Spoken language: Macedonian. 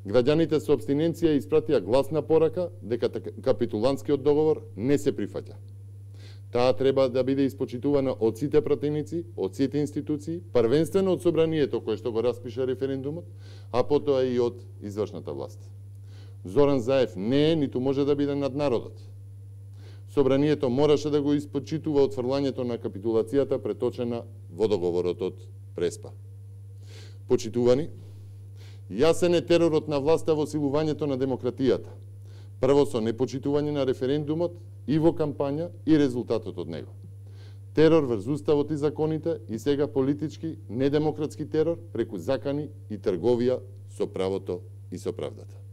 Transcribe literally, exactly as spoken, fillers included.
Граѓаните со абстиненција испратија гласна порака дека капитулантскиот договор не се прифаќа. Таа треба да биде испочитувана од сите пратеници, од сите институции, првенствено од собранието кое што го распиша референдумот, а потоа и од извршната власт. Зоран Заев не е, ниту може да биде над народот. Собранието мораше да го испочитува отфрлањето на капитулацијата преточена во договорот од Преспа. Почитувани, јасен е теророт на власта во силувањето на демократијата. Прво со непочитување на референдумот и во кампања и резултатот од него. Терор врз уставот и законите и сега политички, недемократски терор преку закани и трговија со правото и со правдата.